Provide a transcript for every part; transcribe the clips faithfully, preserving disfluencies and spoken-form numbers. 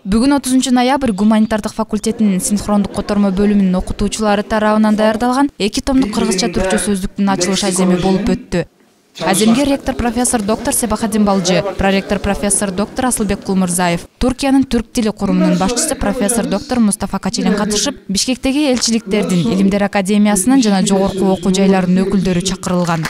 Бүгүн отузунчу ноябрь гуманитардык факультетинин синхрондук котормо бөлүмүнүн окутуучулары тарабынан даярдалган эки томдук кыргызча түркчө сөздүктүн ачылыш аземи болуп өттү. Аземге ректор профессор доктор Себахадин Балжы, проректор профессор доктор Асылбек Кулмурзаев, Туркиянын түрк тили курумунун башчысы профессор доктор Мустафа Качилин катышып, Бишкектеги элчиликтердин, Илимдер академиясынын жана жогорку окуу жайларынын өкүлдөрү чакырылган.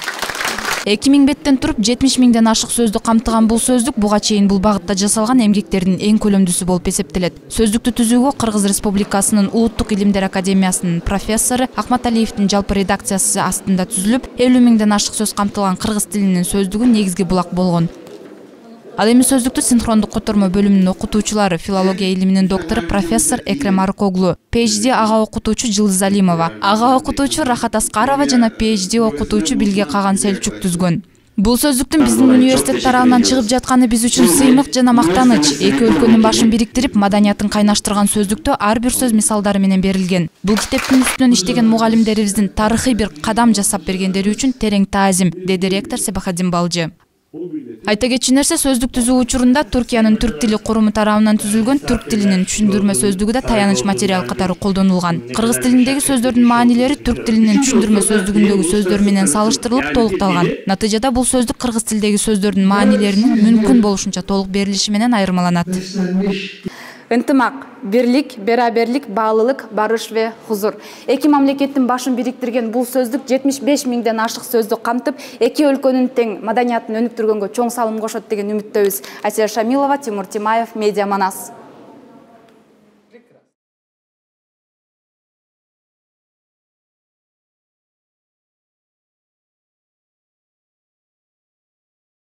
эки миң беттен туруп жетимиш миңден ашык сөздү камтыган бул сөздүк буга чейин бул багытта жасалган эмгектердин эң көлөмдүүсү болуп эсептелет. Сөздүктү түзүүгө Кыргыз Республикасынын Улуттук Илимдер академиясынын профессору Ахматалиевдин жалпы редакциясы астында түзүлүп, элүү миңден ашык сөз камтылган кыргыз тилинин сөздүгү негизги булак болгон. Ал эми сөздүктү синхрондук котормо бөлүмүнүн окутуучулары филология илиминин доктору профессор Экрем Арыкоглу, PhD ага окутуучу Жылдыз Алимова, ага окутуучу Рахат Аскарова жана PhD окутуучу Билге Каган Селчук түзгөн. Бул сөздүктүн биздин университет тарабынан чыгып жатканы биз үчүн сыймык жана мактаныч. Эки өлкөнүн башын бириктирип, маданиятын кайнаштырган сөздүктө ар бир сөз мисалдары менен берилген. Бул китептин үстүнөн иштеген мугалимдерибиздин тарыхый бир кадам жасап бергендери үчүн терең таазим, деди ректор Себахадин Балжы. Айта кетчү нерсе, сөздүк түзүү учурунда Туркиянын түрк тили куруму тарабынан түзүлгөн түрк тилинин түшүндүрмө сөздүгү да таяныч материал катары колдонулган. Кыргыз тилиндеги сөздөрдүн маанилери түрк тилинин түшүндүрмө сөздүгүндөгү сөздөр менен салыштырылып толукталган. Натыйжада бул сөздүк кыргыз тилдеги сөздөрдүн маанилеринин мүмкүн болушунча толук берилиши менен айырмаланат. Ынтымак, бирлик, бераберлик, баалуулук, барыш ве хузур. Эки мамлекеттин башын бириктирген бул сөздүк жетимиш беш миңден ашык сөздү камтып, эки өлкөнүн тең маданиятын өнүктүргөнгө чоң салым кошот деген үмүттөбүз. Асия Шамилова, Тимур Тимаев, Медиа Манас.